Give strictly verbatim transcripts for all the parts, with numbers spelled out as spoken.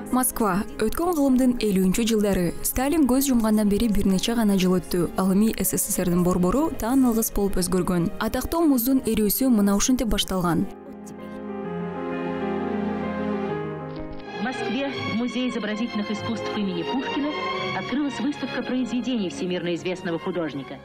Москва. Өткөн кылымдын элүүнчү жылдары Сталин көз жумгандан бери бир нече гана жыл өттү. Ал эми СССРдин борбору таң алгыс болуп өзгөргөн. Атактуу муздун эрүүсү мына ушинтип башталган. В Москве в Музее изобразительных искусств имени Пушкина открылась выставка произведений всемирно известного художника.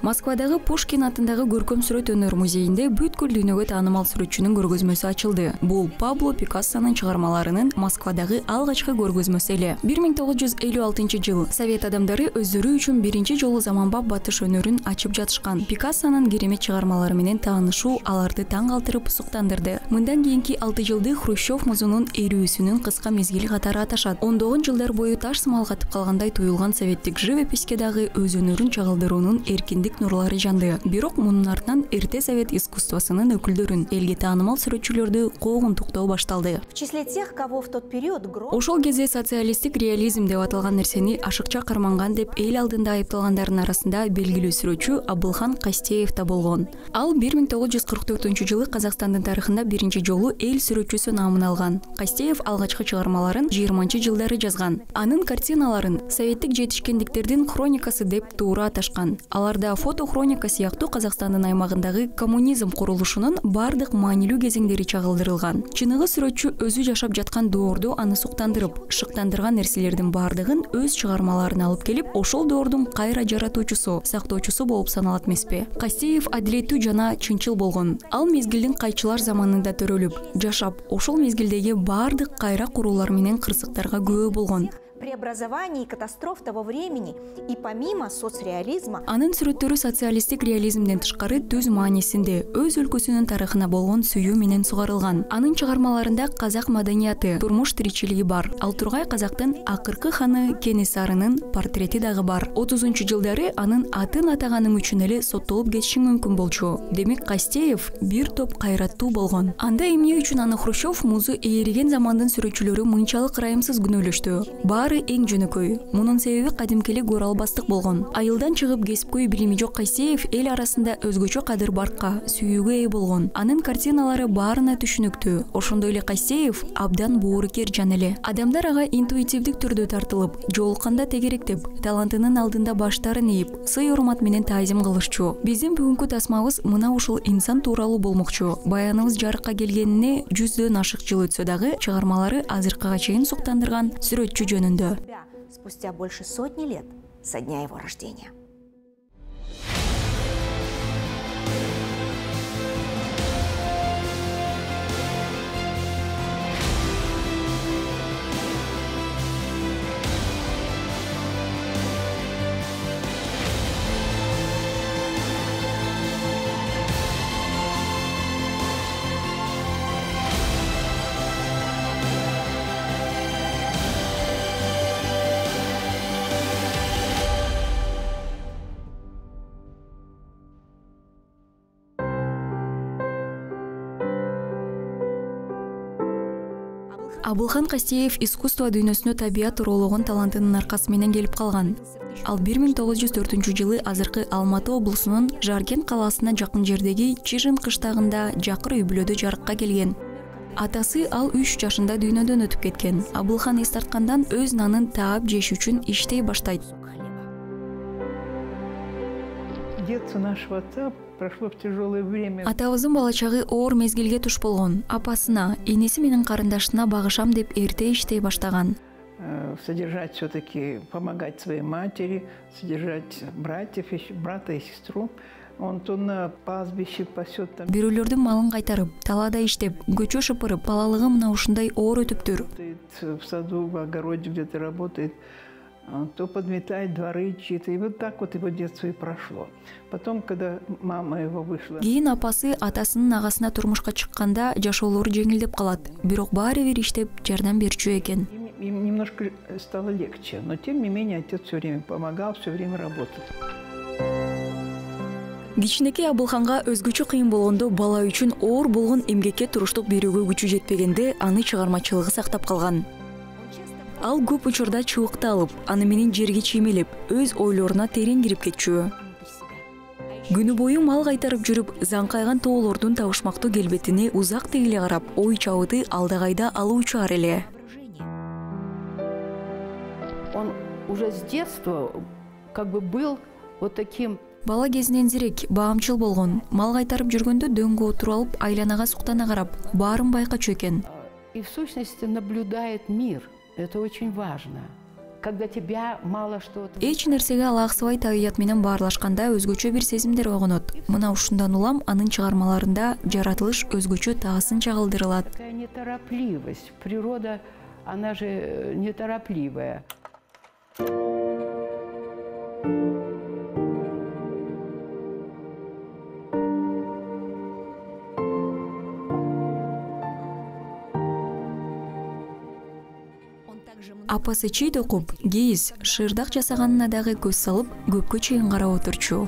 Москвадагы Пушкин атындагы көркөм сүрөт өнөр музейинде бүткүл дүйнөгө таанымал сүрөтчүнүн көргөзмөсү ачылды. Бул Пабло Пикассонун чыгармаларынын Москвадагы алгачкы көргөзмөсү эле. бир миң тогуз жүз элүү алтынчы жыл Совет адамдары өздөрү үчүн биринчи жолу заманбап батыш өнөрүн ачып жатышкан. Пикассонун керемет чыгармалары менен таанышуу аларды таң калтырып суктандырды. Мындан кийинки алты жылды Хрущев музунун эрүүсүнүн кыска мезгили катары аташат. ондогон жылдар бою таш сымал катып калгандай туюлган советтик живописке дагы өз өнөрүн чагылдыруунун эркиндик нурлары жанды. Бирок мунун артынан эрте совет искусствосунун өкүлдөрүн, элге таанымал сүрөтчүлөрдү куугунтуктоо башталды. В числе тех, кого в тот период Ошол кезде социалисттик реализм деп аталган нерсени ашыкча карманган деп эл алдында айыпталгандардын арасында белгилүү сүрөтчү Абылхан Кастеев да болгон. Ал бир миң тогуз жүз кырк төртүнчү жылы Казакстандын тарыхында биринчи жолу эл сүрөтчүсү наамын алган. Кастеев алгачкы чыгармаларын жыйырманчы жылдары жазган. Анын картиналарын советтик жетишкендиктердин хроникасы деп туура аташкан. Аларда фото хроника сыяктуу Казакстандын аймагындагы коммунизм курулушунун бардык маанилүү кезеңдери чагылдырылган. Чыныгы сүрөтчү өзү жашап жаткан доордо аны суктандырып, шыктандырган нерселердин бардыгын өз чыгармаларына алып келип, ошол доордун кайра жаратуучусу, сактоочусу болуп саналат эмеспи. Кастеев адилеттүү жана чынчыл болгон. Ал мезгилдин кайчылар заманында төрөлүп, жашап, ошол мезгилдеги бардык кайра куруулар менен кырсыктарга күбө болгон. преобразований и катастроф того времени и помимо соцреализма. Анын сүрөттөрү социалисттик реализмден тышкары түз маанисинде өз өлкөсүнүн тарыхына болгон сүйүү менен сугарылган. Анын чыгармаларында казак маданияты, турмуш тиричилиги бар. Ал Тургай казактын акыркы ханы Кенесарынын портрети дагы бар. отузунчу жылдары анын атын атаганың үчүн эле соттолуп кетиши мүмкүн болчу. Демек Кастеев бир топ кайраттуу болгон. Анда эмне үчүн аны Хрущев музу ээриген замандын сүрөтчүлөрү мынчалык ырайымсыз күнөөлөштү? Баары эң жөнөкөй. Мунун себеби кадимкеле көралбастык болгон. Айылдан чыгып кесипкөй билими жок Кастеев эл арасында өзгөчө кадыр-баркка, сүйүүгө ээ болгон. Анын картиналары баарына түшүнүктүү. Ошондой эле Кастеев абдан боорукер жан эле. Адамдар ага интуитивдик түрдө тартылып, жолукканда тегеректеп, талантынын алдында баштарын ийип, сый-урмат менен таазим кылышчу. Биздин бүгүнкү тасмабыз мына ушул инсан тууралуу болмокчу. Баяныбыз жарыкка келгенине жүздөн ашык жыл өтсө дагы, чыгармалары азыркыга чейин суктандырган сүрөтчү жөнүндө. Спустя больше сотни лет со дня его рождения. Абылхан Кастеев искусство дүйнөсүнө табият уроологон талантынын аркасы менен келип калган. Ал бир миң тогуз жүз төртүнчү жылы азыркы Алматы облусунун Жаркент калаасына жакын жердеги Чижин кыштагында жакыр үй бүлөдө жарыкка келген. Атасы ал үч жашында дүйнөдөн өтүп кеткен. Абылхан эс тарткандан өз нанын таап жеш үчүн иштей баштайт. Детство нашего отца прошло в тяжелое время. Атабыздын бала чагы оор мезгилге туш болгон. Апасына, энеси менен карындашына багышам деп эрте иштей баштаган. Содержать все-таки, помогать своей матери, содержать братьев, брата и сестру. Он то на пастбище пасет там. Бирөөлөрдүн малын кайтарып, талаада иштеп, көчө шыпырып, балалыгы мына ушундай оор өтүптүр. В саду, в огороде где-то работает. То подметает дворы чьи-то. И вот так вот его детство и прошло. Потом, когда мама его вышла... Кийин апасы атасынын агасына турмушка чыкканда жашоолору жеңилдеп калат. Бирок баары бир иштеп жардам берчү экен. Им немножко стало легче, но тем не менее отец все время помогал, все время работал. Кичинекей Абылханга өзгөчө кыйын болгондо бала үчүн оор болгон эмгекке туруштук берүүгө күчү жетпегенде аны чыгармачылыгы сактап калган. Ал көп учурда чыбыкты алып, аны менен жерге чиймелеп, өз ойлоруна терең кирип кетчү. Күнү бою мал кайтарып жүрүп, заңкайган тоолордун табышмактуу келбетине узак тегиле карап, ой чабыты алдагайда алуучу ар эле. уже с детства как бы был вот таким. Бала кезинен зирек, баамчыл болгон. Мал кайтарып жүргөндө дөңгө отуруп алып, айланага суктана карап, баарын байкачу экен. И в сущности наблюдает мир. Это очень важно. Когда тебя мало что. Эч нерсеге алаксыбай табият менен баарлашканда өзгөчө бир сезимдер ойгонот. Мына ушундан улам анын чыгармаларында жаратылыш өзгөчө таасынча кылдырылат. Такая неторопливость. Природа, она же неторопливая. Апасы чийд окуп, кийиз, шырдак жасаганына дагы көз салып, көпкө чейин карап отурчу.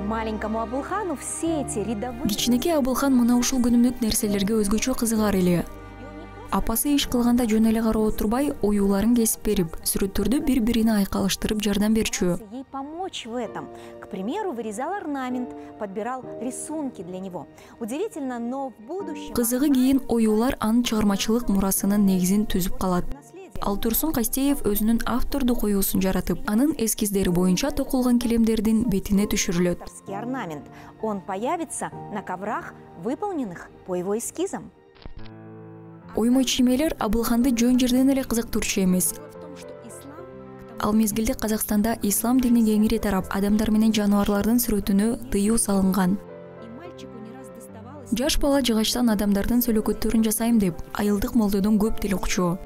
Маленькому Абылхану все эти рядовые... Кичинекей Абылхан мына ушул күнүмдүк нерселерге өзгөчө кызыгар эле. Апасы иш кылганда жөн эле карап отурбай, оюуларын кесип берип, сүрөттөрдү бири-бирине айкалыштырып жардам берчү. Ей помочь в этом. К примеру, вырезал орнамент, подбирал рисунки для него. Удивительно, но в будущем... Кызыгы кийин оюулар анын чыгармачылык мурасынын негизин түзүп калат. Ал Турсун Кастеев өзүнүн автордук оюусун жаратып, анын эскиздери боюнча токулган килемдердин бетине түшүрүлөт. Орнамент. Он появится на коврах, выполненных по его эскизам. Оймой чиймелер Абылханды жөн жерден эле кызыктырчу эмес. Ал мезгилде Казакстанда ислам дини кеңири тарап, адамдар менен жаныбарлардын сүрөтүнө тыюу салынган. Жаш бала жыгачтан адамдардын сүлөкөттөрүн жасайм деп, айылдык молдодон көп тил укчу.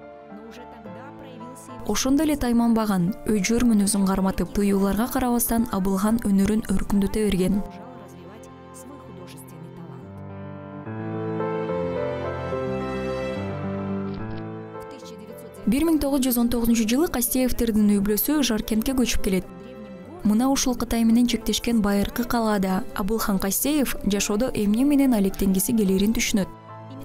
Ошондо эле тайманбаган, өжөр мүнөзүн карматып, тыюуларга карабастан Абылхан өнөрүн өркүндөтө берген. бир миң тогуз жүз он тогузунчу жылы Кастеевтердин үй бүлөсү Жаркентке көчүп келет. Мына ушул Кытай менен чектешкен байыркы калаада Абылхан Кастеев жашоодо эмне менен алектенгиси келерин түшүнөт.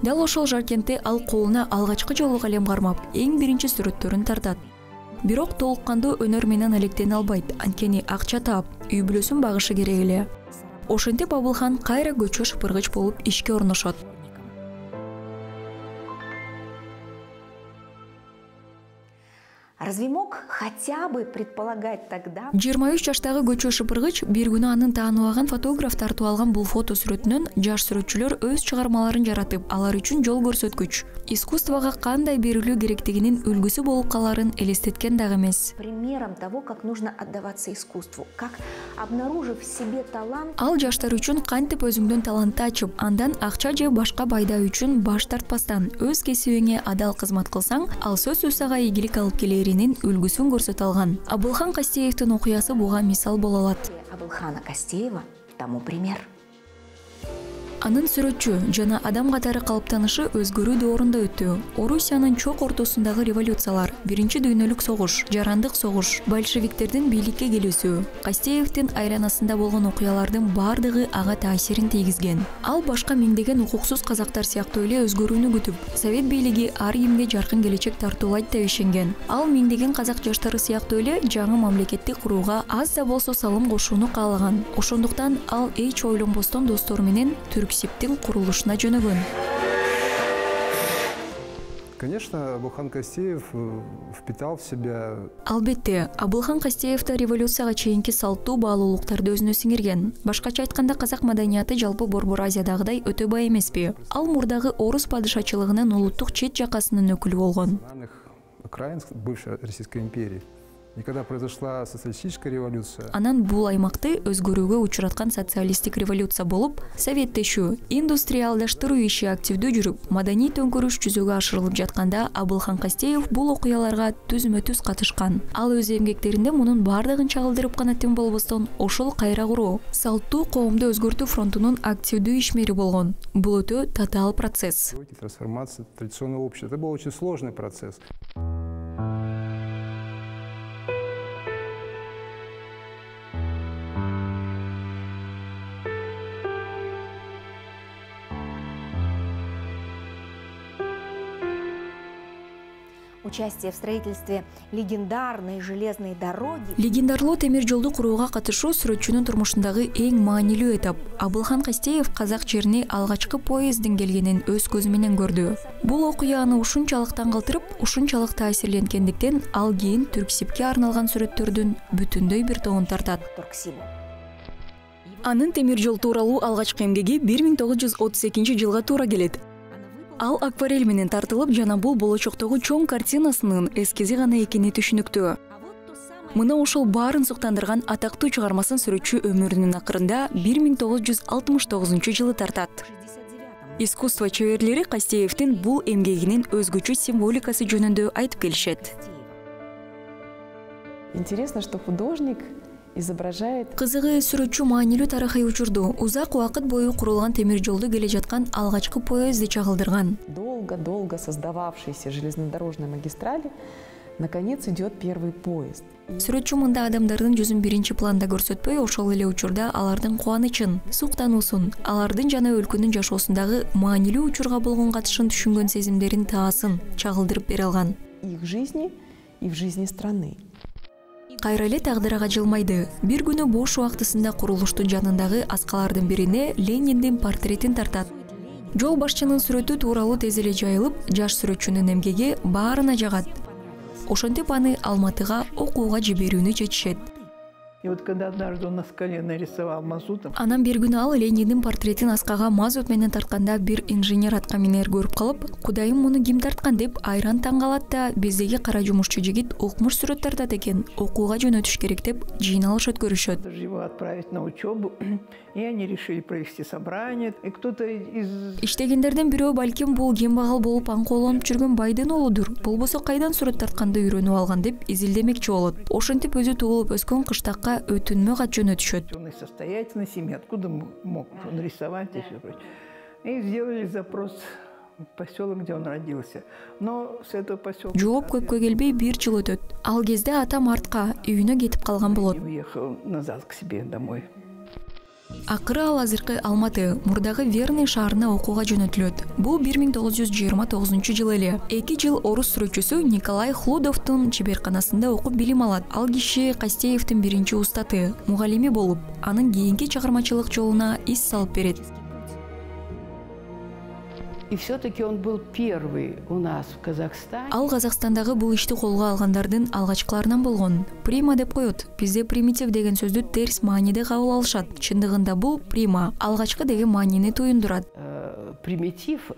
Дал ошол Жаркентте ал колуна алгачкы жолу калем кармап, эң биринчи сүрөттөрүн тартат. Бирок толуккандуу өнөр менен алектене албайт, анткени акча таап, үй бүлөсүн багышы керек эле. Ошентип Абылхан кайра көчө шыпыргыч болуп ишке орношот. Разве мог хотя бы предполагать тогда... жыйырма үч жаштагы көчө шыпыргыч бир күнү анын тааныбаган фотограф тартып алган бул фото сүрөтүнөн жаш сүрөтчүлөр өз чыгармаларын жаратып, алар үчүн жол көрсөткүч, искусствого кандай берилүү керектигинин үлгүсү болуп каларын элестеткен дагы эмес. Примером того, как нужно отдаваться искусству, как, обнаружив в себе талант... Ал жаштар үчүн кантип өзүңдүн талантты ачып, андан акча же башка пайда үчүн баш тартпастан өз кесибиңе адал кызмат кылсаң, ал сөзсүз сага ийгилик алып келеринин үлгүсүн көрсөтө алган. Абылхан Кастеевдин окуясы буга мисал боло алат. Абылхана Кастеева тому пример. Анын сүрөтчү жана адам катары калыптанышы өзгөрүү доорунда өттү. Орусиянын чок ортосундагы революциялар, биринчи дүйнөлүк согуш, жарандык согуш, большевиктердин бийликке келүүсү, Кастеевдин айланасында болгон окуялардын бардыгы ага таасирин тийгизген. Ал башка миңдеген укуксуз казактар сыяктуу эле өзгөрүүнү күтүп, совет бийлиги ар кимге жаркын келечек тартуулайт деп ишенген. Ал миңдеген казак жаштары сыяктуу эле жаңы мамлекетти курууга аз да болсо салым кошууну каалаган. Ошондуктан ал эч ойлонбостон достору менен Түрксибтин курулушуна жөнөгөн. Конечно, Абылхан Кастеев впитал в себя... Албетте, Абылхан Кастеев да революцияга чейинки салттуу баалуулуктарды өзүнө сиңирген. Башкача айтканда, казак маданияты жалпы Борбор Азиядагыдай өтө бай эмеспи. Ал мурдагы орус падышачылыгынын улуттук чет жакасынын өкүлү болгон. Окраин бывшей Российской империи. И когда произошла социалистическая революция... Анан бул аймакты өзгөрүүгө учураткан социалисттик революция болуп, советтешүү, индустриалдаштыруу иши активдүү жүрүп, маданий төңкөрүш жүзөгө ашырылып жатканда Абылхан Кастеев бул окуяларга түзмө-түз катышкан. Ал өз эмгектеринде мунун бардыгын чагылдырып гана тем болбостон, ошол кайра куруу, салттуу коомду өзгөртүү фронтунун активдүү ишмери болгон. Бул өтө татаал процесс. Трансформация традиционного общества. Это был очень сложный процесс. Участие в строительстве легендарной железной дороги Легендарлуу темир жолду курууга катышуу сүрөтчүнүн турмушундагы эң маанилүү этап. Абылхан Кастеев казак жерине алгачкы поезддин келгенин өз көзү менен көрдү. Бул окуя аны ушунчалык таң калтырып, ушунчалык таасирленгендиктен ал кийин Түрксибке арналган сүрөттөрдүн бүтүндөй бир тобун тартат. Турксибу. Анын темир жол тууралуу алгачкы эмгеги бир миң тогуз жүз отуз экинчи жылга туура келет. Ал акварель менен тартылып, жана бул болочоктогу чоң картинасынын эскизи гана экени түшүнүктүү. Мына ошол баарын суктандырган атактуу чыгармасын сүрөтчү өмүрүнүн акырында бир миң тогуз жүз алтымыш тогузунчу жылы тартат. Искусство чеберлери Кастеевдин бул эмгегинин өзгөчө символикасы жөнүндө айтып келишет. Интересно, что художник изображает... Кызыгы, сүрөтчү маанилүү тарыхый учурду, узак убакыт бою курулган темир жолду келе жаткан алгачкы поездди чагылдырган. Долго-долго создававшейся железнодорожной магистрали наконец идет первый поезд. Сүрөтчү мында адамдардын жүзүн биринчи планда көрсөтпөй, ошол эле учурда алардын кубанычын, суктануусун, алардын жана өлкөнүн жашоосундагы маанилүү учурга болгон катышын түшүнгөн сезимдерин таасын чагылдырып бере алган. И в жизни, и в жизни страны. Кайра эле тагдырга жылмайды. Бир күнү бош убактысында курулуштун жанындагы аскалардын бирине Лениндин портретин тартат. Жол башчынын сүрөтү тууралуу тез эле жайылып, жаш сүрөтчүнүн эмгеги баарына жагат. Ошентип аны Алматыга окууга жиберүүнү чечишет. И вот когда однажды он на скале нарисовал мазутом... Анан бир күнү ал Лениндин портретин аскага мазут менен тартканда бир инженер аткаминер көрүп калып, кудайым муну ким тарткан деп айран таң калат да, биздеги кара жумушчу жигит укмуш сүрөт тартат экен, окууга жөнөтүш керек деп жыйналыш өткөрүшөт. Его отправить на учебу, и они решили провести собрание, и кто-то из... Иштегендерден бирөө балким бул кембагал болуп аңкоолонуп жүргөн байдын оолудур, болбосо кайдан сүрөт тартканды үйрөнүп алган деп изилдемекчи болот. Ошентип өзү туулуп өскөн кыштакка өтүнмө кат жөнөтүшөт. Он из состоятельной семьи, откуда мог нарисовать и все прочее. И сделали запрос в поселок, где он родился. Но с этого поселка... Жооп көпкө келбей бир жыл өтөт. Ал кезде атам артка үйүнө кетип калган болот. Уехал назад к себе домой. Акыры ал азыркы Алматы, мурдагы Верный шаарына окууга жөнөтүлөт. Бул бир миң тогуз жүз жыйырма тогузунчу жыл эле. эки жыл орус сүрөтчүсү Николай Хлудовдун чеберканасында окуп билим алат. Ал киши Кастеевдин биринчи устаты, мугалими болуп, анын кийинки чыгармачылык жолуна из салып берет. И все-таки он был первый у нас в Казахстане. Ал Казакстандагы бул ишти колго алгандардын алгачкыларынан болгон. Прима деп коет. Бизде примитив деген сөздү терс мааниде кабыл алышат. Чындыгында бул прима, алгачкы деген маанини туюндурат. Примитив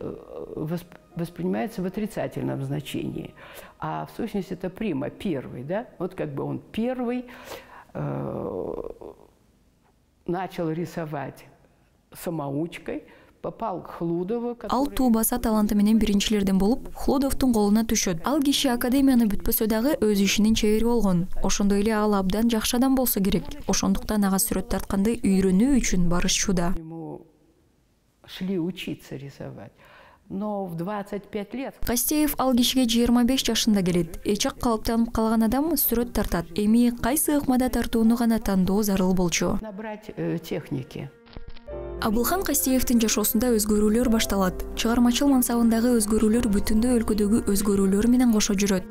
воспринимается в отрицательном значении, а в сущности это прима, первый, да? Вот как бы он первый э, начал рисовать самоучкой. Попал к Хлудову. Ал туубаса таланты менен биринчилерден болуп, Хлудовдун колуна түшөт. Ал киши академияны бүтпөсө дагы өз ишинин чебери болгон. Ошондой эле ал абдан жакшы адам болсо керек. Ошондуктан ага сүрөт тартканды үйрөнүү үчүн барышчуда. Шли учиться рисовать. Но в двадцать пять лет Кастеев ал кишиге жыйырма беш жашында келет. Эчак калыптанып калган адам сүрөт тартат. Эми кайсы ыкмада тартууну гана тандоо зарыл болчу. Набрать э, техники. Абылхан Кастеевдин жашоосунда өзгөрүүлөр башталат. Чыгармачыл мансабындагы өзгөрүүлөр бүтүндөй өлкөдөгү өзгөрүүлөр менен кошо жүрөт.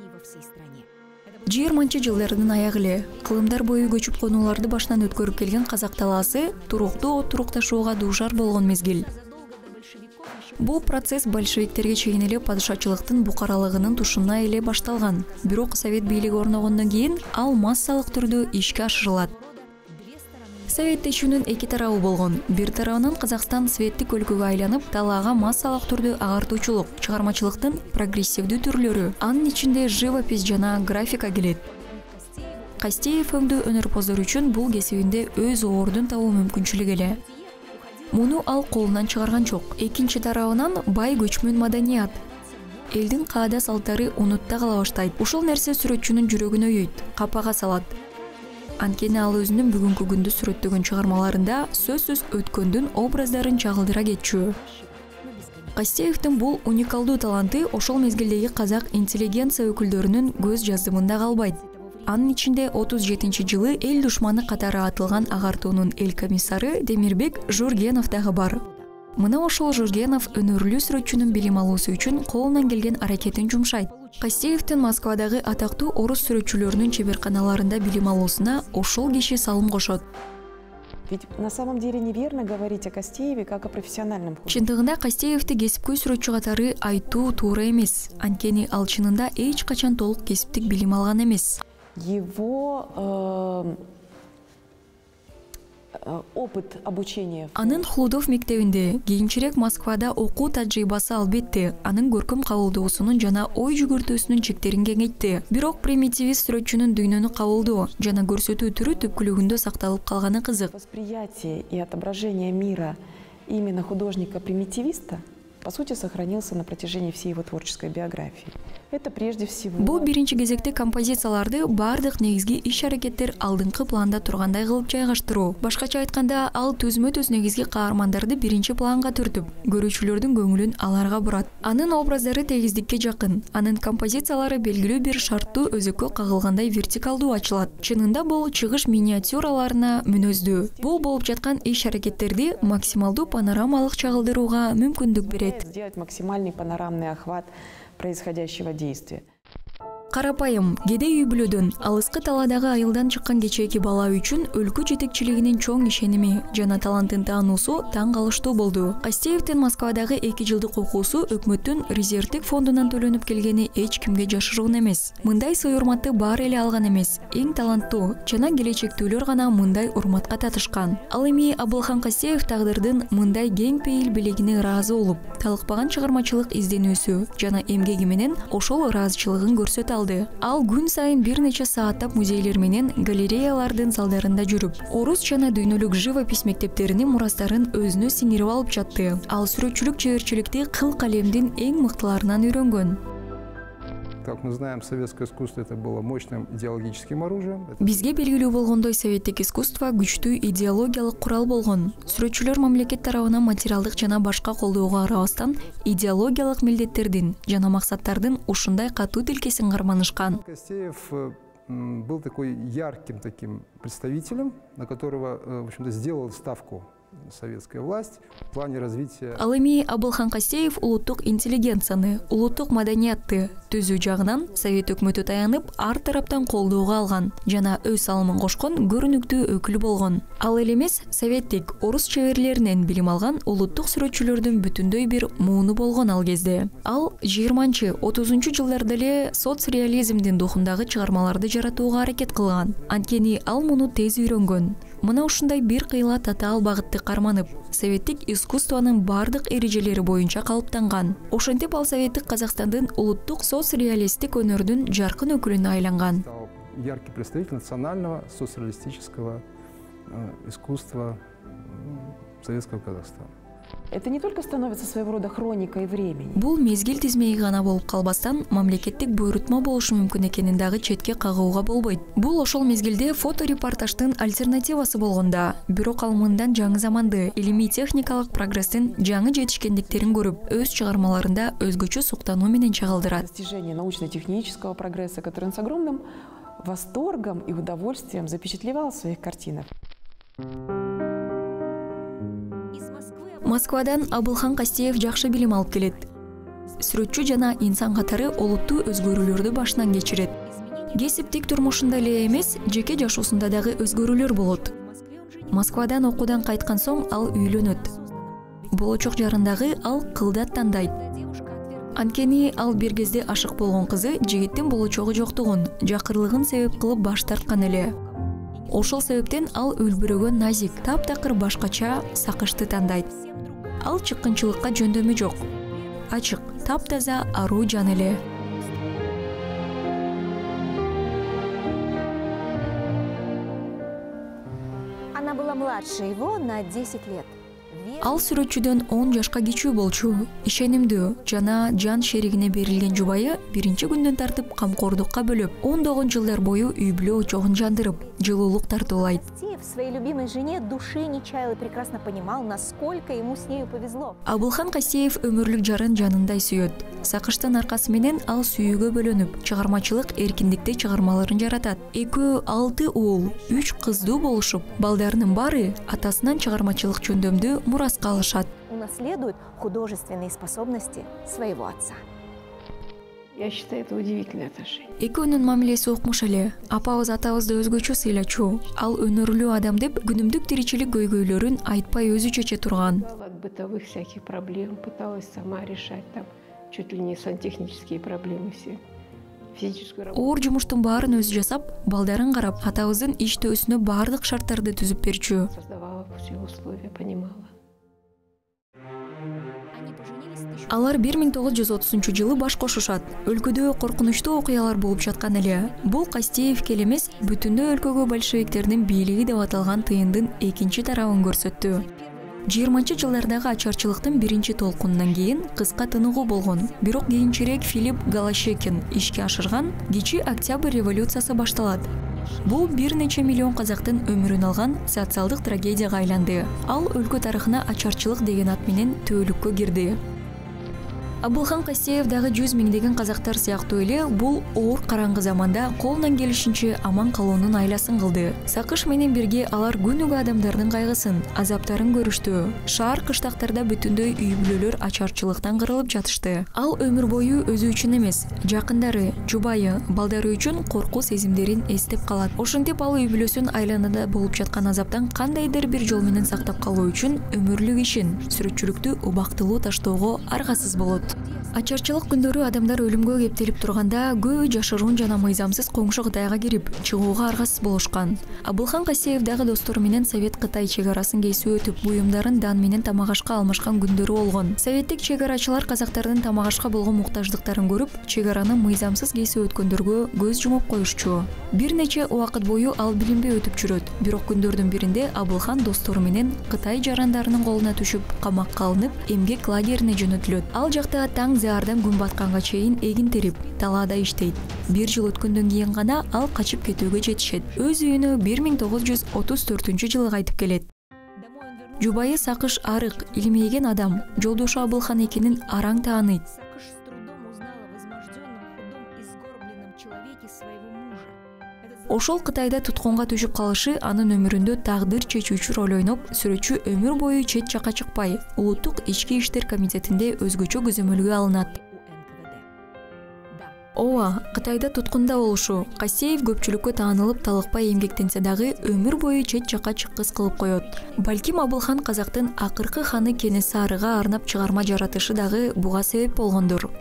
жыйырманчы жылдардын аягы эле кылымдар бою көчүп конууларды башынан өткөрүп келген казак талаасы туруктуу отурукташууга дуушар болгон мезгил. Бул процесс большевиктерге чейин эле падышачылыктын букаралыгынын тушуна эле башталган. Бирок совет бийлиги орногондон кийин ал массалык түрдө ишке ашырылат. Советтешүүнүн эки тарабы болгон. Бир тарабынан Казакстан светтик өлкөгө айланып, талаага массалык түрдө агартуучулук, чыгармачылыктын прогрессивдүү түрлөрү, анын ичинде живопись жана графика келет. Кастеев өңдүү өнөрпоздор үчүн бул кесибинде өз ордун табуу мүмкүнчүлүгү эле. Муну ал колунан чыгарган жок. Экинчи тарабынан бай көчмөн маданият. Элдин каада салттары унутта кала баштайт. Ушул нерсе сүрөтчүнүн жүрөгүн өйөйт, капага салат. Анткени ал өзүнүн бүгүнкү күндү сүрөттөгөн чыгармаларында сөзсүз өткөндүн образдарын чагылдыра кетчү. Кастеевдин бул уникалдуу таланты ошол мезгилдеги казак интеллигенция өкүлдөрүнүн көз жаздымында калбайт. Анын ичинде отуз жетинчи жылы эл душманы катары атылган агартуунун эл комиссары Демирбек Жургенов дагы бар. Мына ошол Жургенов өнөрлүү сүрөтчүнүн билим алуусу үчүн колунан келген аракетин жумшайт. Кастеевдин Москвадагы атактуу орус сүрөтчүлөрүнүн чеберканаларында билим алуусуна ошол киши салым кошот. Ведь на самом деле неверно говорить о Кастееве как о профессиональном художнике. Чындыгында Кастеевди кесипкөй сүрөтчү катары айтуу туура эмес. Анткени ал чынында эч качан толук кесиптик билим алган эмес. Его э, опыт обучения. Анын Хлудов мектебинде, кийинчерээк Москвада окуу тажрыйбасы албетте анын көркөм кабылдоосунун жана ой жүгүртүүсүнүн чектерин кеңейтти. Бирок примитивист сүрөтчүнүн дүйнөнү кабылдоо жана көрсөтүү түрү түпкүлүгүндө сакталып калганы кызык. Восприятие и отображение мира именно художника-примитивиста по сути сохранился на протяжении всей его творческой биографии. Это прежде всего. Бул биринчи кезекте композицияларды бардык негизги иш-аракеттер алдыңкы планда тургандай кылып жайгаштыруу. Башкача айтканда, ал түзмө-түз негизги каармандарды биринчи планга түртүп, көрүүчүлөрдүн көңүлүн аларга бурат. Анын образдары тегиздикке жакын, анын композициялары белгилүү бир шарттуу өзөккө кагылгандай вертикалдуу ачылат. Чынында бул чыгыш миниатюраларына мүнөздүү. Бул болуп жаткан иш-аракеттерди максималдуу панорамалык чагылдырууга мүмкүндүк берет. Сделать максимальный панорамный охват происходящего действия. Карапайым, кедей үй-бүлөдөн, алыскы талаадагы айылдан чыккан кечээки бала үчүн өлкө жетекчилигинин чоң ишеними жана талантын таануусу таң калыштуу болду. Кастеевдин Москвадагы эки жылдык окуусу өкмөттүн резервдик фондунан төлөнүп келгени эч кимге жашыруун эмес. Мындай сый урматты баары эле алган эмес. Эң таланттуу жана келечектүүлөр гана мындай урматка татышкан. Ал эми Абылхан Кастеев тагдырдын мындай кең пейил белегине ыраазы болуп, талыкпаган чыгармачылык изденүүсү жана эмгеги менен ошол ыраазычылыгын көрсөтө алды. Ал күн сайын бир нече сааттап музейлер менен галереялардын залдарында жүрүп, орус жана дүйнөлүк живопись мектептеринин мурастарын өзүнө сиңирип алып жатты. Ал сүрөтчүлүк чеберчиликти кыл калемдин эң мыктыларынан үйрөнгөн. Как мы знаем, советское искусство это было мощным идеологическим оружием. Бизге белгилүү болгондой, советтик искусство күчтүү идеологиялык курал болгон. Сүрөтчүлөр мамлекет тарабынан материалдык жана башка колдоого карабастан идеологиялык милдеттердин жана максаттардын ушундай катуу тилкесин карманышкан. Кастеев был такой ярким таким представителем, на которого, в общем-то, сделал ставку советская власть в плане развития. Ал эми Абылхан Кастеев улуттук интеллигенцияны, улуттук маданиятты түзүү жагынан совет өкмөтү таянып, ар тараптан колдоого алган жана өз салымын кошкон көрүнүктүү өкүл болгон. Ал эле эмес, советтик орус чеберлеринен билим алган улуттук сүрөтчүлөрдүн бүтүндөй бир мууну болгон ал кезде. Ал жыйырманчы отузунчу жылдарда эле соцреализмдин духундагы чыгармаларды жаратууга аракет кылган. Анткени ал муну тез үйрөнгөн. Мына ушундай бир кыйла татаал багытты карманып, советтик искусствонун бардык эрежелери боюнча калыптанган. Ошентип ал советтик Казакстандын улуттук соцреалисттик өнөрдүн жаркын өкүлүнө айланган. Яркий представитель национального соцреалистического искусства советского Казахстана. Это не только становится своего рода хроникой времени. Бул мезгил тизмеги гана болуп калбастан мамлекеттик буйрутма болушу мүмкүн экенин дагы четке кагууга болбойт. Бул ошол мезгилде фоторепортаждын альтернативасы болгонда, бирок ал мындан жаңы заманды, илимий техникалык прогресстин жаңы жетишкендиктерин көрүп, өз чыгармаларында өзгөчө суктануу менен чагылдырат. Достижение научно-технического прогресса, который он с огромным восторгом и удовольствием запечатлевал в своих картинах. Москвадан Абылхан Кастеев жакшы билим алып келет. Сүрөтчү жана инсан катары олуттуу өзгөрүүлөрдү башынан кечирет. Кесиптик турмушунда эле эмес, жеке жашоосунда дагы өзгөрүүлөр болот. Москвадан окуудан кайткан соң ал үйлөнөт. Болочок жарындагы ал кылдат тандайт. Анткени ал бир кезде ашык болгон кызы жигиттин болочогу жоктугун, жакырлыгын себеп кылып баш тарткан эле. Ошол себептен ал үлбүрөгөн назик, таптакыр башкача сакышты тандайт. Ал чыккынчылыкка жөндөмү жок. Ачык, таптаза аруу жан эле. Она была младше его на десять лет. Ал сүрөтчүдөн он жашка кичүү болчу, ишенимдүү жана жан шеригине берилген жубайы биринчи күндөн тартып камкордукка бөлөп, ондогон жылдар бою үй-бүлө очогун жандырып, жылуулук тартуулайт. В своей любимой жене души не чаял и прекрасно понимал, насколько ему с нею повезло. Абылхан Кастеев өмүрлүк жарын жанындай сүйөт. Сакыштын аркасы менен ал сүйүүгө бөлөнүп, чыгармачылык эркиндикте чыгармаларын жаратат. Экөө алты уул, үч кыздуу болушуп, балдарынын баары атасынан чыгармачылык жөндөмдү мураска алышат. Унаследует художественные способности своего отца. Я считаю, это удивительное отношение. Экөөнүн мамилеси окмуш эле. Апабыз атабызды өзгөчө сыйлачу. Ал өнөрлүү адам деп күнүмдүк тиричилик көйгөйлөрүн айтпай өзү чече турган. От бытовых всяких проблем пыталась сама решать, там чуть ли не сантехнические проблемы все. Физическую работу. Оор жумуштун баарын өзү жасап, балдарын карап, атабыздын иштөөсүнө баардык шарттарды түзүп берчү. Создавала все условия, понимала. Алар бир миң тогуз жүз отузунчу жылы баш кошушат. Өлкөдө коркунучтуу окуялар болуп жаткан эле. Бул Кастеевке эмес, бүтүндөй өлкөгө большевиктердин бийлиги деп аталган тыйындын экинчи тарабын көрсөттү. жыйырманчы жылдардагы ачарчылыктын биринчи толкунунан кийин кыска тыныгуу болгон. Бирок кийинчерээк Филипп Голощекин ишке ашырган кичи Октябрь революциясы башталат. Бул бир нече миллион казактын өмүрүн алган социалдык трагедияга айланды. Ал өлкө тарыхына ачарчылык деген ат менен түбөлүккө кирди. Абылхан Кастеев дагы жүз миңдеген казактар сыяктуу эле бул оор караңгы заманда колунан келишинче аман калуунун айласын кылды. Сакыш менен бирге алар күнүгө адамдардын кайгысын, азаптарын көрүштү. Шаар кыштактарда бүтүндөй үй бүлөлөр ачарчылыктан кырылып жатышты. Ал өмүр бою өзү үчүн эмес, жакындары, жубайы, балдары үчүн коркуу сезимдерин эстеп калат. Ошентип ал үй бүлөсүн айланада болуп жаткан азаптан кандайдыр бир жол менен сактап калуу үчүн өмүрлүк ишин, сүрөтчүлүктү убактылуу таштоого аргасыз болот. Ачарчылык күндөрү адамдар өлүмгө кептелип турганда көбү жашыруун жана мыйзамсыз коңшу Кытайга кирип, чыгууга аргасыз болушкан. Абылхан Кастеев дагы достору менен Совет Кытай чек арасын кесип өтүп, буюмдарын дан менен тамак ашка алмашкан күндөрү болгон. Советтик чек арачылар казактардын тамак ашка болгон муктаждыктарын көрүп, чек араны мыйзамсыз кесип өткөндөргө көз жумуп коюшчу. Бир нече убакыт бою ал билинбей өтүп жүрөт. Бирок күндөрдүн биринде Абылхан достору менен Кытай жарандарынын колуна түшүп, камакка алынып, эмгек лагерине жөнөтүлөт. Ал жакта таң заардан күн батканга чейин эгин терип, талаада иштейт. Бир жыл өткөндөн кийин гана ал качып кетүүгө жетишет. Өз үйүнө бир миң тогуз жүз отуз төртүнчү жылы кайтып келет. Жубайы Сакыш арык, илмейген адам, жолдошу Абылхан экенин араң тааныйт. Ошол Кытайда туткунга түшүп калышы анын өмүрүндө тагдыр чечүүчү роль ойноп, сүрөтчү өмүр бою чет жакка чыкпай, улуттук ички иштер комитетинде өзгөчө көзөмөлгө алынат. Ооба, Кытайда туткунда болушу Кастеев көпчүлүккө таанылып талыкпай эмгектенсе дагы өмүр бою чет жакка чыккыс кылып коет. Балким Абылхан казактын акыркы ханы Кенесарыга арнап чыгарма жаратышы дагы буга себеп болгондур.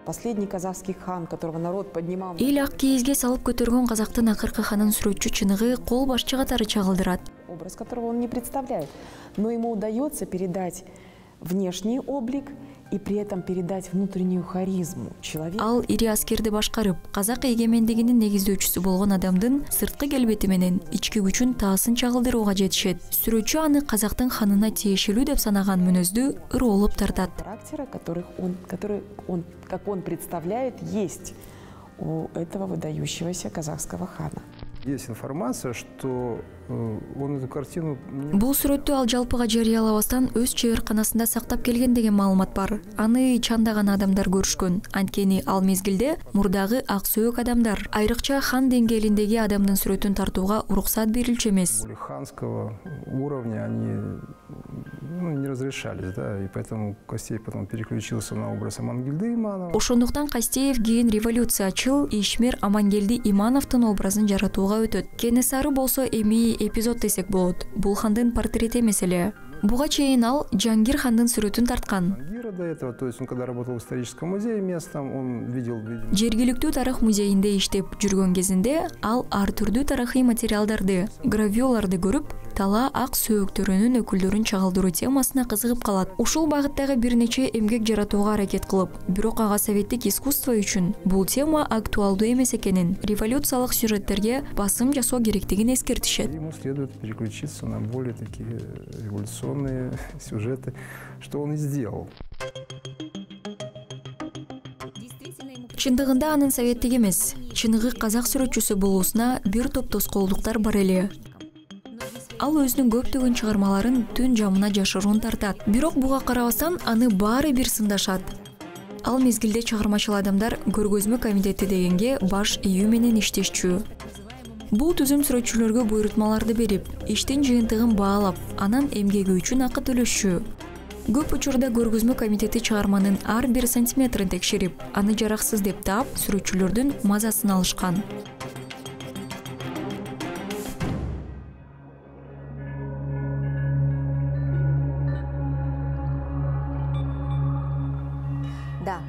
Последний казахский хан, которого народ поднимал. Эл ак кийизге салып көтөргөн казактын акыркы ханын сүрөтчү чыныгы кол башчы катары чагылдырат. Образ которого он не представляет, но ему удается передать внешний облик и при этом передать внутреннюю харизму человека. Ал ири аскерди башкарып, казак эгемендигинин негиздөөчүсү болгон адамдын сырткы келбети менен ички күчүн таасын чагылдырууга жетишет. Сүрөтчү аны казактын ханына тиешелүү деп санаган мүнөздү ыроолуп тартат. Характера, которых он, который он, как он представляет, есть у этого выдающегося казахского хана. Есть информация, что он эту картину... Бул сүрөттү ал жалпыга жарыялабастан өз чеберканасында сактап келген деген маалымат бар. Аны чандаган адамдар көрүшкөн. Анткени ал мезгилде мурдагы ак сөөк адамдар, айрыкча хан деңгээлиндеги адамдын сүрөтүн тартууга уруксат берилчү эмес. Ханского уровня они ну, не разрешались, да, и поэтому Кастеев потом переключился на образ Амангелды Иманова. Ошондуктан Кастеев кийин революциячыл Ишмер Амангелди Имановдун образын жаратууга өтөт. Кенесары болсо эми эпизод десек болот. Бул хандын портрети эмес эле. Буга чейин ал Жангир хандын сүрөтүн тарткан. До этого, то есть он когда работал в историческом музее местном, он видел, видел... Жергиликтүү тарых музейинде иштеп жүргөн кезинде ал ар түрдүү тарыхый материалдарды, гравюраларды көрүп, тала ак сөөктөрүнүн өкүлдөрүн чагылдыруу темасына кызыгып калат. Ушул багыттагы бир нече эмгек жаратууга аракет кылып, бирок ага советтик искусство үчүн бул тема актуалдуу эмес экенин, революциялык сюжеттерге басым жасоо керектигин эскертишет. Ему следует переключиться на более такие революционные сюжеты, что он и сделал. Чындыгында анын советтик эмес, чыныгы казак сүрөтчүсү болуусуна бир топ тоскоолдуктар бар эле. Ал өзүнүн көптөгөн чыгармаларын түн жамына жашыруун тартат. Бирок буга карабастан аны баары бир сындашат. Ал мезгилде чыгармачыл адамдар көргөзмө комитети дегенге баш ийүү менен иштешчү. Бул түзүм сүрөтчүлөргө буйрутмаларды берип, иштин жыйынтыгын баалап, анан эмгеги үчүн акы төлөшчү. Көп учурда көргөзмө комитети чыгарманын ар бир сантиметрин текшерип, аны жараксыз деп таап, сүрөтчүлөрдүн мазасын алышкан. Да,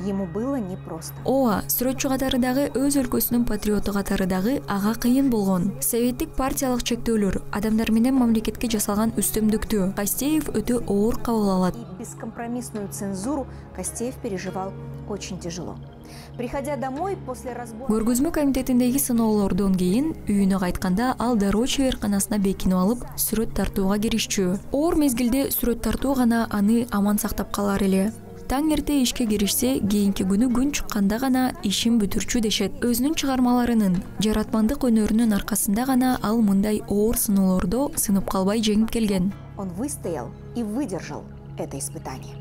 ему было непросто. Ооба, сүрөтчү катары дагы өз өлкөсүнүн патриоту катары дагы ага кыйын болгон. Советтик партиялык чектөөлөр, адамдар менен мамлекетке жасалган үстөмдүктү Костеев өтө оор кабыл алат. И бескомпромиссную цензуру Костеев переживал очень тяжело. Приходя домой после разбора... Көргөзмө комитетиндеги сыноолордон кийин үйүнө кайтканда ал дароо чеберканасына бекинип алып, сүрөт тартууга киришчү. Оор мезгилде сүрөт тартуу гана аны аман сактап калар эле. Таң эрте ишке киришсе, кийинки күнү күн чыкканда гана ишин бүтүрчү дешет. Өзүнүн чыгармаларынын, жаратмандык өнөрүнүн аркасында гана ал мындай оор сыноолордо сынып калбай жеңип келген. Он выстоял и выдержал это испытание.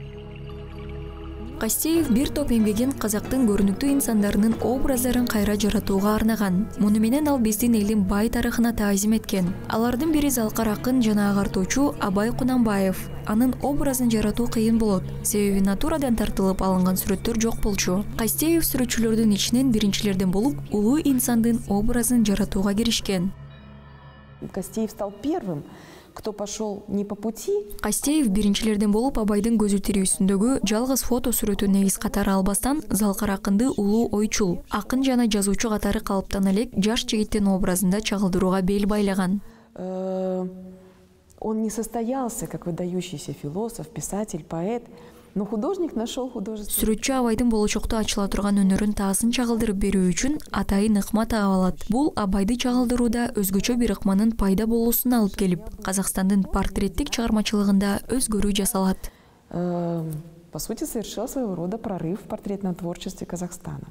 Костеев бир топ эмгегин казактын көрүнүктүү инсандарынын образдарын кайра жаратууга арнаган. Муну менен ал биздин элдин бай тарыхына таазим эткен. Алардын бири залкар акын жана агартуучу Абай Кунанбаев. Анын образын жаратуу кыйын болот, себеби натурадан тартылып алынган сүрөттөр жок болчу. Костеев сүрөтчүлөрдүн ичинен биринчилерден болуп, улуу инсандын образын жаратууга киришкен. Костеев стал первым, кто пошел не по пути. Костеев биринчилерден болуп Абайдын көзү тирүүсүндөгү жалгыз фото сүрөтүн негиз катары албастан залкар акынды улуу ойчул, акын жана жазуучу катары калыптан элек жаш жигиттин образында чагылдырууга бел байлаган. Он не состоялся как выдающийся философ, писатель, поэт, но художник нашел художество. Сүрөтчү Абайдын болочокто ачыла турган өнөрүн таасын чагылдырып берүү үчүн атайын ыкма таап алат. Бул Абайды чагылдырууда өзгөчө бир ыкманын пайда болуусуна алып келип, Казакстандын портреттик чыгармачылыгында өзгөрүү жасалат. По сути, совершил своего рода прорыв в портретном творчестве Казахстана.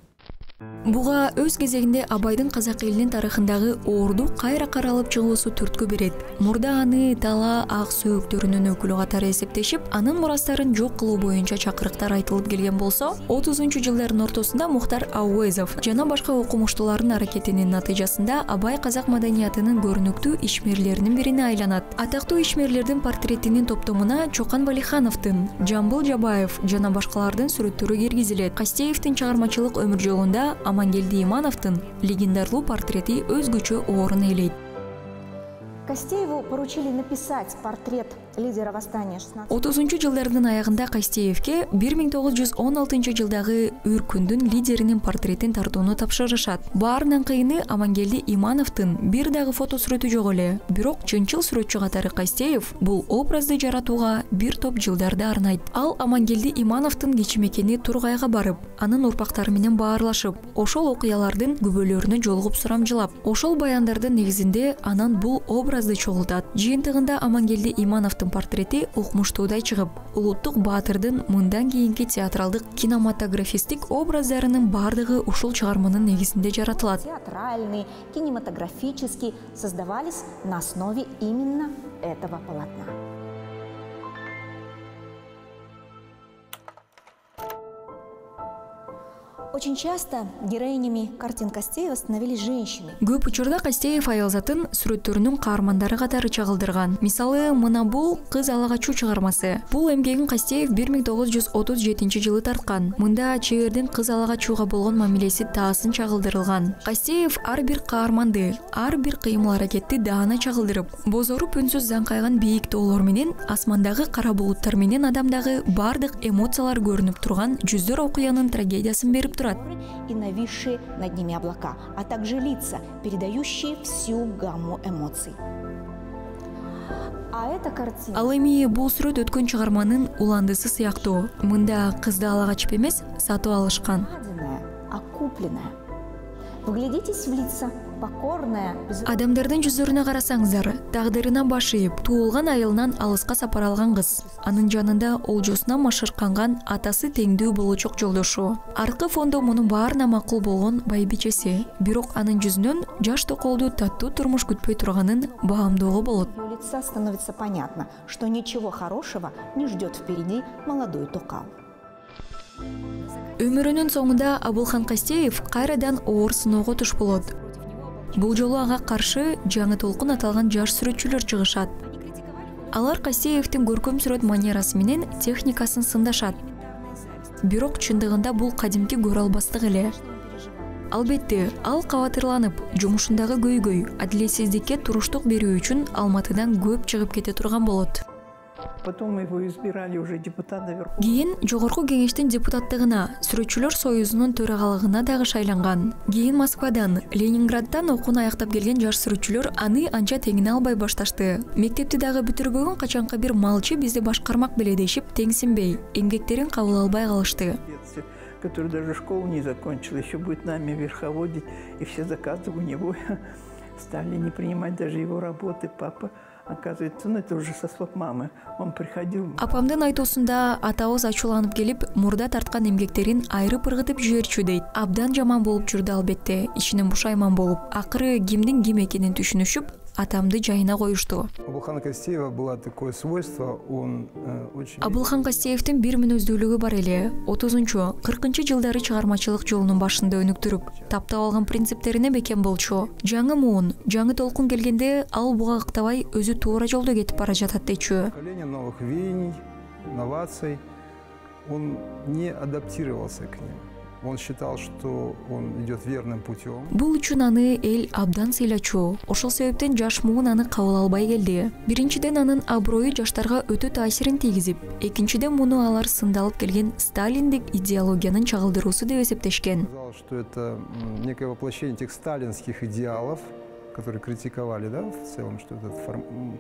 Буга өз кезегинде Абайдын казак элинин тарыхындагы оорду кайра каралып чыгуусу түрткү берет. Мурда аны тала ак сөөктөрүнүн өкүлү катары эсептешип, анын мурастарын жок кылуу боюнча чакырыктар айтылып келген болсо, отузунчу жылдардын ортосунда Мухтар Ауэзов жана башка окумуштуулардын аракетинин натыйжасында Абай казак маданиятынын көрүнүктүү ишмерлеринин бирине айланат. Атактуу ишмерлердин портретинин топтомуна Чокан Валихановдун, Жамбыл Жабаев жана башкалардын сүрөттөрү киргизилет. Костеевдин чыгармачылык өмүр жолунда Амангелди Имановдун легендарлуу портрети өзгөчө орун ээлейт. Костееву поручили написать портрет лидера восстания шестнадцатого. отузунчу жылдардын аягында Костеевке бир миң тогуз жүз он алтынчы жылдагы Үркүндүн лидеринин портретин тартууну тапшырышат. Баарынан кыйыны Амангелди Имановдун бир дагы фото сүрөтү жок эле. Бирок чынчыл сүрөтчү катары Костеев бул образды жаратууга бир топ жылдарды арнайт. Ал Амангелди Имановдун кичимекени Тургайга барып, анын урпактары менен баарлашып, ошол окуялардын күбөлөрүнө жолугуп сурамжылап, ошол баяндардын негизинде анан бул образды чогултат. Жыйынтыгында Амангелди Имановдун портрети укмуштуудай чыгып, улуттук баатырдын мындан кийинки театралдык кинематографистик образдарынын бардыгы ушул чыгарманын негизинде жаратылат. Театральные, кинематографические создавались на основе именно этого полотна. Очень часто героинями картин Костеева становились женщины. Көп учурда Костеев аялзатын сүрөттөрүнүн каармандары катары чагылдырган. Мисалы, мына бул Кыз ала качуу чыгармасы. Бул эмгегин Костеев бир миң тогуз жүз отуз жетинчи жылы тарткан. Мында чебердин кыз ала качууга болгон мамилеси таасын чагылдырылган. Костеев ар бир каарманды, ар бир кыймыл аракетти даана чагылдырып, бозоруп үнсүз заң бийик тоолор менен, асмандагы кара булуттар менен адамдагы бардык эмоциялар көрүнүп турган жүздөр окуянын трагедиясын берип турат. И нависшие над ними облака, а также лица, передающие всю гамму эмоций. А эта картина... Ал эми бул сүрөт өткөн чыгарманын уландысы сыяктуу. Мында кызды ала качып эмес, сатып алышкан. Окупленная. Вглядитесь в лица. Покорная, без... Адамдардын жүздөрүнө карасаңыздар, тагдырына баш ийип, туулган айылынан алыска сапар алган кыз. Анын жанында олжосуна машырканган атасы теңдүү болочок жолдошу. Аркы фондо мунун баарына макул болгон байбичеси. Бирок анын жүзүнөн жаш токолду таттуу турмуш күтпөй турганын баамдоого болот. У лица становится понятно, что ничего хорошего не ждет впереди молодой токал. Өмүрүнүн соңунда Абылхан Костеев кайрадан оор сыноого туш болот. Бул жолу ага каршы жаңы толкун аталган жаш сүрөтчүлөр чыгышат. Алар Кастеевдин көркөм сүрөт манерасы менен техникасын сындашат. Бирок чындыгында бул кадимки көрө албастык эле. Албетте, ал кабатырланып, жумушундагы көйгөй, адилетсиздикке туруштук берүү үчүн Алматыдан көп чыгып кете турган болот. Потом его избирали уже депутата Верховного. Кийин жогорку кеңештин депутаттыгына, сүрөтчүлөр союзунун төрагалыгына дагы шайланган. Кийин Москвадан, Ленинграддан окууну аяктап келген жаш сүрөтчүлөр аны анча теңине албай башташты. Мектепти дагы бүтүрбөгөн качанкы бир малчы бизди башкармак беле дешип теңсинбей, эмгектерин кабыл албай калышты. Который даже школу не закончил, еще будет нами верховодить, и все заказы у него стали не принимать даже его работы. Папа, оказывается, ну это уже со слов мамы, он приходил. Апамдын айтуусунда атабыз ачууланып келип, мурда тарткан эмгектерин айрып ыргытып жиберчү дейт. Абдан жаман болуп жүрдү албетте, ичинен бушайман болуп. Акыры кимдин ким экенин түшүнүшүп, атамды жайына коюшту. Абылхан Кастеева было такое свойство, он э, очень... Абылхан Кастеевдин бир мүнөздүүлүгү бар эле. отузунчу кыркынчы жылдары чыгармачылык жолунун башында өнүктүрүп, таптап алган принциптерине бекем болчу. Жаңы муун, жаңы толкун келгенде ал буга ыктабай өзү туура жолдо кетип бара жатат дечү. Поколение новых веяний, инноваций, он не адаптировался к ним. Он считал, что он идет верным путем. Бул үчүн аны эл абдан сыйлачу. Ошол себептен жаш муун аны кабыл албай келди. Биринчиден анын аброю жаштарга өтө таасирин тийгизип, экинчиден муну алар сындалып келген сталиндик идеологиянын чагылдыруусу деп эсептешкен. Сказал, что это некое воплощение тех сталинских идеалов, которые критиковали, да, в целом, что это форм...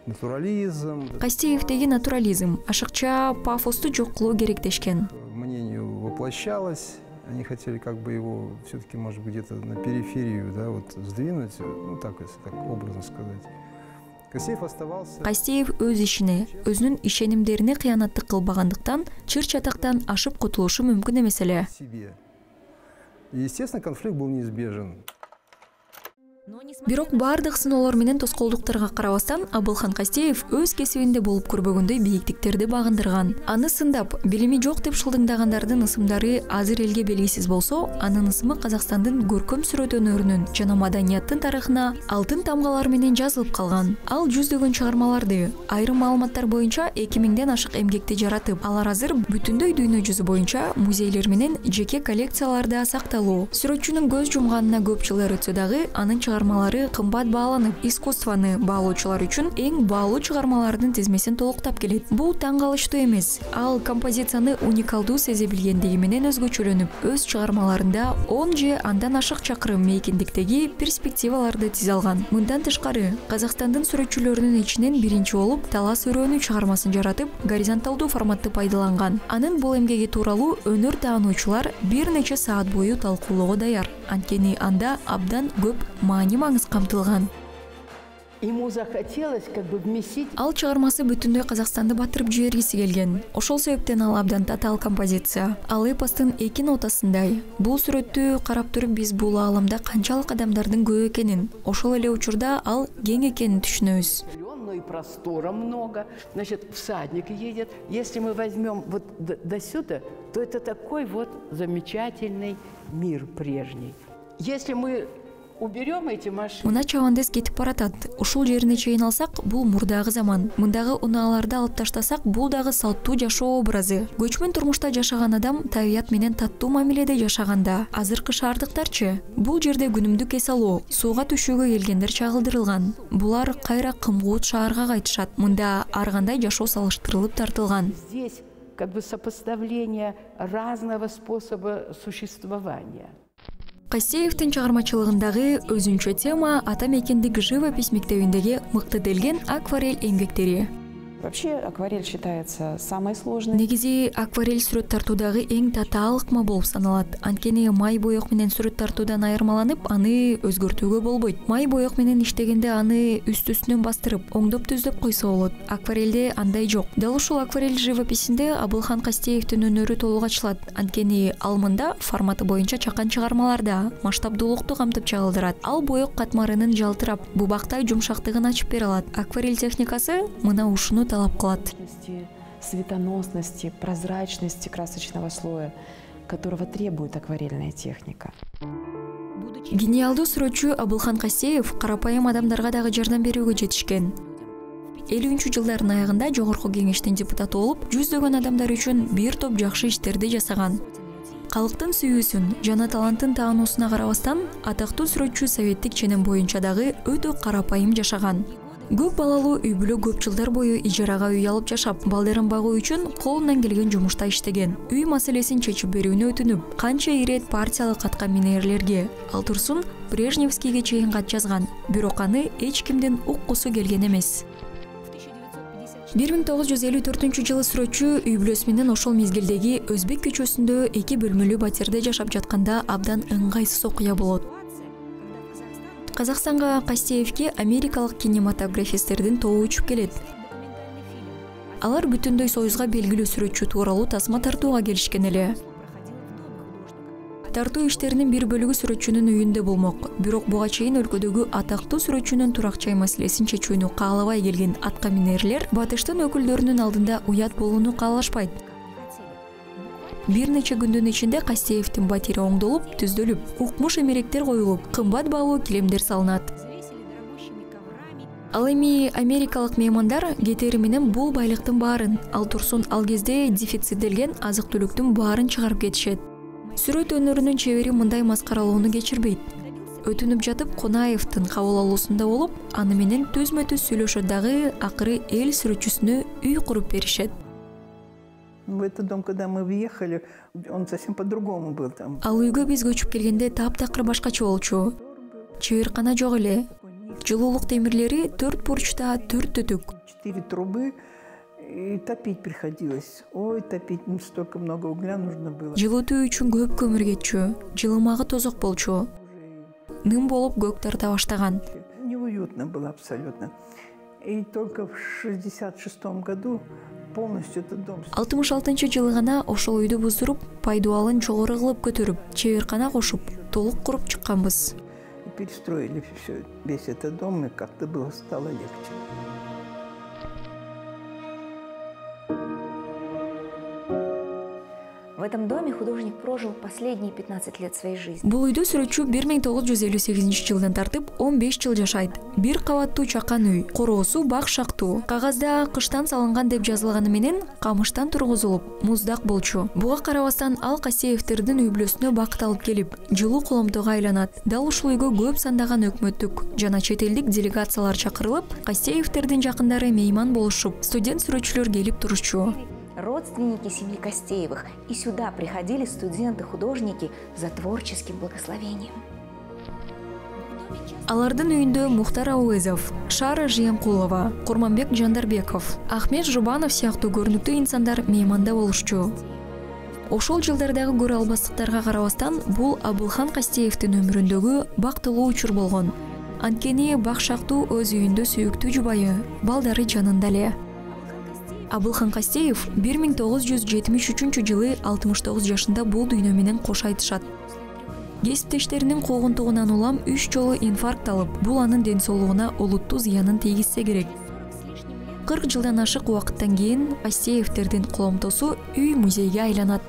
натурализм. Кастеевдеги натурализм, ашыкча пафосту жок кылуу керек дешкен. Мнению воплощалось, они хотели как бы его все-таки, может быть, где-то на периферию, да, вот сдвинуть, ну так, если так образно сказать. Кастеев оставался. Кастеев өз ишине, өзүнүн ишенимдерине кыянаттык кылбагандыктан чыр чатактан ашып кутулушу мүмкүн эмес эле. Естественно, конфликт был неизбежен. Бирок бардык сыноолор менен тоскоолдуктарга карабастан Абылхан Кастеев өз кесибинде болуп көрбөгөндөй бийиктиктерди багындырган. Аны сындап, билими жок деп шылдыңдагандардын ысымдары азыр элге белгисиз болсо, анын ысымы Казакстандын көркөм сүрөт өнөрүнүн жана маданияттын тарыхына алтын тамгалар менен жазылып калган. Ал жүздөгөн чыгармаларды, айрым маалыматтар боюнча эки миңден ашык эмгекти жаратып, алар азыр бүтүндөй дүйнө жүзү боюнча музейлер менен жеке коллекцияларда сакталуу. Сүрөтчүнүн көз жумганына көп жылдар өтсө дагы, анын чыгармалары кымбат бааланып, искусствону баалоочулар үчүн эң баалуу чыгармалардын тизмесин толуктап келет. Бул таң калыштуу эмес. Ал композицияны уникалдуу сезе билгендиги менен өзгөчөлөнүп, өз чыгармаларында он же андан ашык чакырым мейкиндиктеги перспективаларды тизе алган. Мындан тышкары, Казакстандын сүрөтчүлөрүнүн ичинен биринчи болуп Талас өрөөнү чыгармасын жаратып, горизонталдуу форматты пайдаланган. Анын бул эмгеги тууралуу өнөр таануучулар бир нече саат бою талкуулоого даяр. Анткени анда абдан көп маани маңыз камтылган. Ему захотелось как бы вместить. Ал чыгармасы бүтүндөй Казакстанды батырып жибергиси келген. Ошол себептен ал абдан татаал композиция. Ал эпостун эки нотасындай. Бул сүрөттү карап туруп биз бул ааламда канчалык адамдардын көп экенин, ошол эле учурда ал кең экенин түшүнөбүз. И простора много. Значит, всадник едет. Если мы возьмем вот до, до сюда, то это такой вот замечательный мир прежний. Если мы уберем эти машины. Мына чабандыз кетип баратат. Ушул жерине чейин алсак, бул мурдагы заман. Мындагы унааларды алып таштасак, бул дагы салттуу жашоо образы. Көчмөн турмушта жашаган адам табият менен таттуу мамиледе жашаганда. Азыркы шаардыктарчы? Бул жерде күнүмдүк эс алуу, сууга түшүүгө келгендер чагылдырылган. Булар кайра кымгуут шаарга кайтышат. Мында ар кандай жашоо салыштырылып тартылган. Здесь как бы сопоставление разного способа существования. Кастеевдин чыгармачылыгындагы өзүнчө тема ата мекендик живопись мектебиндеги мыктыделген акварель эмгектери. Вообще акварель считается самой сложной. Негизи акварель сүрөт тартуудагы эң татаал ыкма болуп саналат. Анткени май боек менен сүрөт тартуудан айырмаланып, аны өзгөртүүгө болбойт. Май боек менен иштегенде аны үст-үстүнөн бастырып, оңдоп түздөп койсо болот. Акварелде андай жок. Дал ушул акварель живописинде Абылхан Кастеевдин өнөрү толук ачылат. Анткени ал мында форматы боюнча чакан чыгармаларда масштабдуулукту камтып чагылдырат. Ал боек катмарынын жалтырап, бубактай жумшактыгын ачып бере алат. Акварель техникасы мына ушуну талап кылат. Светоносности, прозрачности красочного слоя, которого требует акварельная техника. Гениалдуу сүрөтчү Абылхан Кастеев карапайым адамдарга дагы жардам берүүгө жетишкен. элүүнчү жылдардын аягында жогорку кеңештин депутаты болуп, жүздөгөн адамдар үчүн бир топ жакшы иштерди жасаган. Калктын сүйүүсүн жана талантын таануусуна карабастан, атактуу сүрөтчү советтик ченем боюнча дагы өтө карапайым жашаган. Көп балалуу үй бүлө көп жылдар бою ижарага үй алып жашап, балдарын багуу үчүн колунан келген жумушта иштеген. Үй маселесин чечип берүүнү өтүнүп, канча ирет партиялык катка минерлерге, ал турсун Брежневскийге чейин кат жазган, бирок аны эч кимдин уккусу келген эмес. бир миң тогуз жүз элүү төртүнчү жылы сүрөтчү үй бүлөсү менен ошол мезгилдеги Өзбек көчөсүндө эки бөлмөлүү батирде жашап жатканда абдан ыңгайсыз окуя болот. Казакстанга Кастеевке америкалык кинематографисттердин тобу учуп келет. Алар бүтүндөй союзга белгилүү сүрөтчү тууралуу тасма тартууга келишкен эле. Тартуу иштеринин бир бөлүгү сүрөтчүнүн үйүндө болмок, бирок буга чейин өлкөдөгү атактуу сүрөтчүнүн турак жай маселесин чечүүнү каалабай келген атка минерлер батыштын өкүлдөрүнүн алдында уят болууну каалашпайт. Бир нече күндүн ичинде Кастеевдин батири оңдолуп, түздөлүп, укмуш эмеректер коюлуп, кымбат баалуу килемдер салынат. Ал эми америкалык меймандар кетери менен бул байлыктын баарын, ал турсун ал кезде дефицитделген азык-түлүктүн баарын чыгарып кетишет. Сүрөт өнөрүнүн чебери мындай маскаралоону кечирбейт. Өтүнүп жатып Конаевдин кабыл алуусунда болуп, аны менен түзмө-түз сүйлөшөт дагы, акыры эл сүрөтчүсүнө үй куруп беришет. В этот дом, когда мы въехали, он совсем по-другому был там. Ал үйгө биз көчүп келгенде таптакыр башкача болчу. Чеберкана жок эле. Жылуулук темирлери төрт бурчта, төрт түтүк. Четыре трубы, и топить приходилось. Ой, топить, столько много угля нужно было. Жылытуу үчүн көп көмүр кетчү. Жылымагы тозок болчу. Ным болуп көк тарта баштаган. Неуютно было абсолютно. И только в шестьдесят шестом году полностью этот дом. алтымыш алтынчы жылы гана ошол үйдү буздуруп, пайдубалын жогору кылып көтөрүп, чеберкана кошуп, толук куруп чыкканбыз. И перестроили все, весь этот дом, и как-то было стало легче. В этом доме художник прожил последние пятнадцать лет своей жизни. Бул үйдө сүрөтчү бир миң тогуз жүз элүү сегизинчи жылдан тартып он беш жыл жашайт. Бир кабаттуу чакан үй, короосу бак шактуу. Кагазда кыштан салынган деп жазылганы менен камыштан тургузулуп, муздак болчу. Буга карабастан ал Кастеевдердин үй бүлөсүнө бакыт алып келип, жылуу коломтого айланат. Дал ушул үйгө көп сандаган өкмөттүк жана чет элдик делегациялар чакырылып, Кастеевдердин жакындары мейман болушуп, студент сүрөтчүлөр келип турушчу. Родственники семьи Кастеевых, и сюда приходили студенты-художники за творческим благословением. Алардын үйүндө Мухтар Ауэзов, Шара Жыянкулова, Курманбек Жандарбеков, Ахмет Жубанов сыяктуу көрүнүктүү инсандар мейманда болушчу. Ошол жылдардагы көрө албастыктарга карабастан, бул Абылхан Кастеевдин өмүрүндөгү бактылуу учур болгон. Анткени бак шактуу өз үйүндө сүйүктүү жубайы, балдары жанында эле. Абылхан Кастеев бир миң тогуз жүз жетимиш үчүнчү жылы алтымыш тогуз жашында бул дүйнө менен кош айтышат. Кесиптештеринин куугунтугунан улам үч жолу инфаркт алып, бул анын ден соолугуна олуттуу зыянын тийгизсе керек. кырк жылдан ашык убакыттан кийин Кастеевдердин коломтосу үй музейге айланат.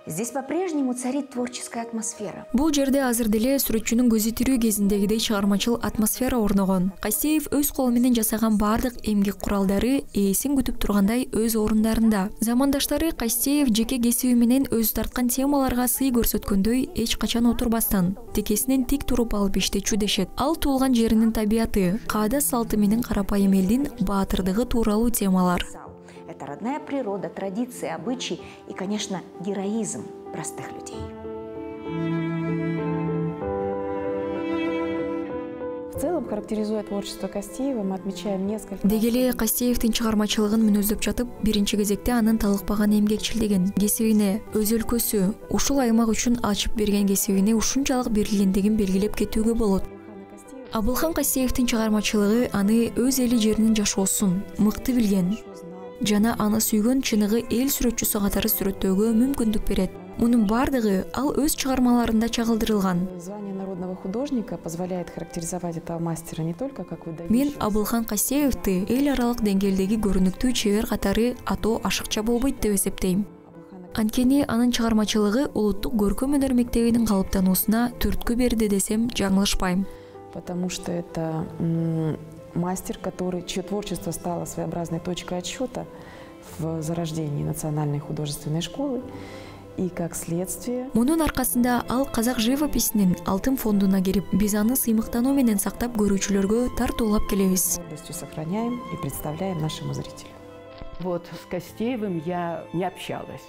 Здесь по-прежнему царит творческая атмосфера. Бул жерде азыр деле сүрөтчүнүн көзү тирүү кезиндегидей чыгармачыл атмосфера орногон. Кастеев өз колу менен жасаган бардык эмгек куралдары ээсин күтүп тургандай өз орундарында. Замандаштары Кастеев жеке кесиби менен өзү тарткан темаларга сый көрсөткөндөй эч качан отурбастан, текесинен тик туруп алып иштечү дешет. Ал туулган жеринин табияты, каада салты менен карапайым элдин баатырдыгы тууралуу темалар. Это родная природа, традиции, обычаи и, конечно, героизм простых людей. В целом, характеризуя творчество Кастеева, мы отмечаем несколько... Дегеле Кастеевдин чыгармачылыгын мүнөздөп жатып, биринчи кезекте анын талыкпаган эмгекчилдигин, кесибине, өз өлкөсү, ушул аймак үчүн ачып берген кесибине ушунчалык берилгендигин белгилеп кетүүгө болот. Абылхан Кастеевдин чыгармачылыгы аны өз эли жеринин жашоосун мыкты билген жана аны сүйгөн чыныгы эл сүрөтчүсү катары сүрөттөөгө мүмкүндүк берет. Мунун бардыгы ал өз чыгармаларында чагылдырылган. Звание народного художника позволяет характеризовать этого мастера не только как выдающийся. Мен Абылхан Кастеевди эл аралык деңгээлдеги көрүнүктүү чебер катары атоо ашыкча болбойт деп эсептейм. Анткени анын чыгармачылыгы улуттук көркөм өнөр мектебинин калыптануусуна түрткү берди десем жаңылышпайм. Потому что это м, мастер, который, чье творчество стало своеобразной точкой отсчета в зарождении национальной художественной школы. И как следствие... Мунун аркасында ал казак живописинин алтын фондуна кирип, биз аны сыймыктануу менен сактап көрүүчүлөргө тартуулап келебиз. С сохраняем и представляем нашему зрителю. Вот с Костеевым я не общалась,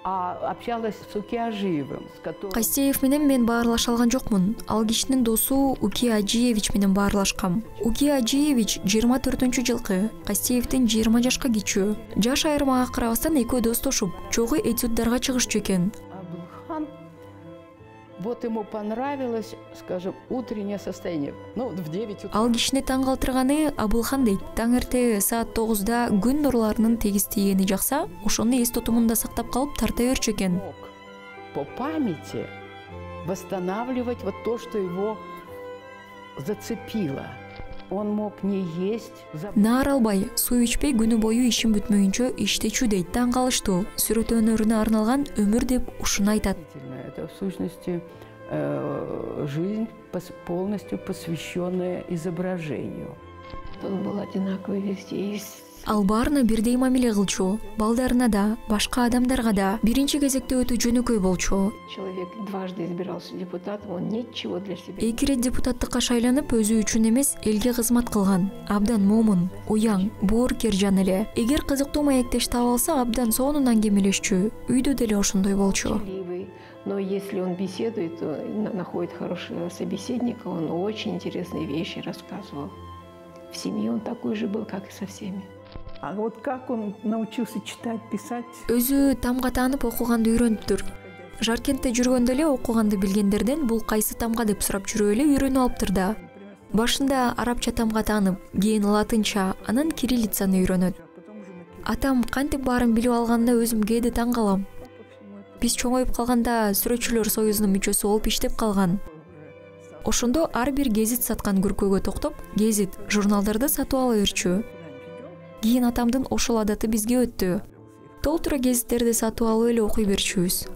а общалась с Укиажиевым, с которым... Костеев менен мен баарлаша алган жокмун. Ал кишинин досу Уки Ажиевич менен баарлашкам. Уки Ажиевич жыйырма төртүнчү жылкы, Костеевдин жыйырма жашка кичүү. Жаш айырмага карабастан экөө достошуп, чогуу этюддарга чыгышчу экен. Абылхан, вот ему понравилось, скажем, утреннее состояние. Ну, в девять утра. Ал кишини таң калтырганы Абылхан дейт. Таң эрте саат тогузда күн нурларынын тегиз тийгени жакса, ошону эс тотумунда сактап калып тарта берчү экен. По памяти восстанавливать вот то, что его зацепило. Он мог не есть. Наар албай, суу ичпей күнү бою ишин бүтмөйүнчө иштечү дейт. Таң калыштуу. Сүрөт өнөрүнө арналган өмүр деп ушуну айтат. Это в сущности э, жизнь полностью посвященная изображению. Он был одинаковый везде. Ал баарына бирдей мамиле кылчу. Балдарына да, башка адамдарга да биринчи кезекте өтө жөнөкөй болчу. Человек дважды избирался депутатом, он ничего для себя. Эки ирет депутаттыкка шайланып, өзү үчүн эмес, элге кызмат кылган. Абдан момун, уяң, боорукер жан эле. Эгер кызыктуу маектеш таап алса, абдан сонун аңгемелешчү. Үйдө деле ошондой болчу. Но если он беседует, находит хорошего собеседника, он очень интересные вещи рассказывал. В семье он такой же был, как и со всеми. А вот как он научился читать, писать? Өзү тамга таанып окуганды үйрөнүптүр. Жаркентте жүргөндө эле окуганды билгендерден бул кайсы тамга деп сурап жүрүп эле үйрөнүп алыптыр да. Башында арабча тамга таанып, кийин латынча, анан кириллицаны үйрөнөт. Атам кантип баарын билип алганына өзүм кээде таң калам. Биз чоңоюп калганда сүрөтчүлөр союзунун мүчөсү болуп иштеп калган. Ошондо ар бир гезит саткан күркөгө токтоп, гезит, журналдарды сатып ала берчү. Кийин атамдын ошол адаты бизге өттү. Толтура гезиттерди сатып алып эле окуй берчүбүз.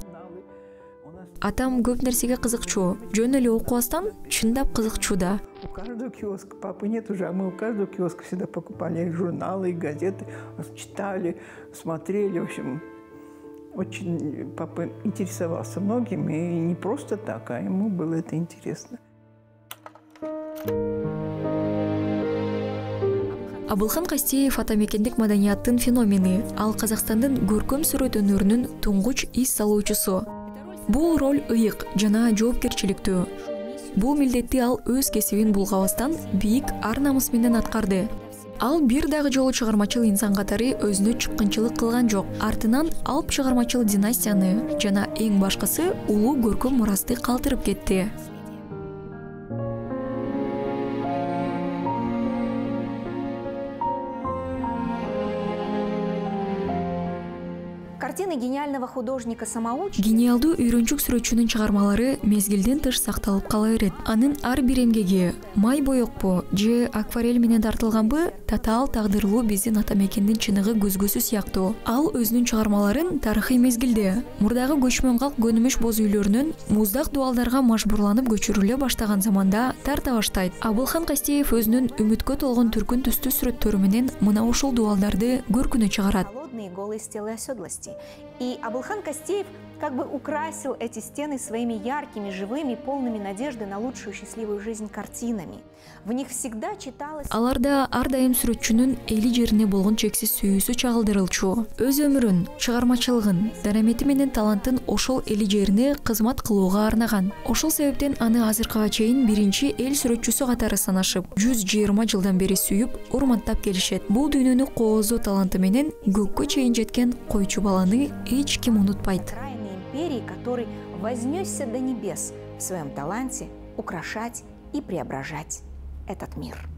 Атам көп нерсеге кызыкчу. Жөн эле окубастан чындап кызыкчу да. У каждого киоска, папы нет уже, а мы у каждого киоска всегда покупали журналы, газеты, читали, смотрели, в общем... Очень папа интересовался многим, и не просто так, а ему было это интересно. Абылхан Костеев атамекендик маданияттын феномени. Ал Казакстандын көркөм сүрөт өнөрүнүн туңгуч ис салуучусу. Бул роль ыйык жана жоопкерчиликтүү. Бул милдетти ал өз кесибин булгабастан бийик ар-намыс менен аткарды. Ал бир дагы жолу чыгармачыл инсан катары өзүнө чыккынчылык кылган жок. Артынан алып чыгармачыл династияны жана эң башкысы улуу көркөм мурасты калтырып кетти. Картины гениального художника-самоучки... Гениалдуу үйрөнчүк сүрөтчүнүн чыгармалары мезгилден тыш сакталып кала берет. Анын ар бир эмгеги май боекпу же акварель менен тартылганбы, татаал тагдырлуу биздин атамекендин чыныгы көзгөсү сыяктуу. Ал өзүнүн чыгармаларын тарыхый мезгилде мурдагы көчмөн калк көнүмүш боз үйлөрүнөн муздак дубалдарга мажбурланып көчүрүлө баштаган заманда тарта баштайт. Абылхан Костеев өзүнүн үмүткө толгон түркүн түстүү сүрөттөрү менен мына ушул дубалдарды көркүнө чыгарат. Голые стелы оседлости. И Абылхан Костеев как бы украсил эти стены своими яркими, живыми, полными надежды на лучшую счастливую жизнь картинами. В них всегда читалось... Аларда ар дайым сүрөтчүнүн эли жерине болгон чексиз сүйүүсү чагылдырылчу. Өз өмүрүн, чыгармачылыгын, дарамети менен талантын ошол эли жерине кызмат кылууга арнаган. Ошол себептен аны азыркыга чейин биринчи эл сүрөтчүсү катары санашып, жүз жыйырма жылдан бери сүйүп, урматтап келишет. Бул дүйнөнү кооздоо таланты менен көккө чейин жеткен койчу баланы эч ким унутпайт. Империи, который вознесся до небес в своем таланте украшать и преображать этот мир.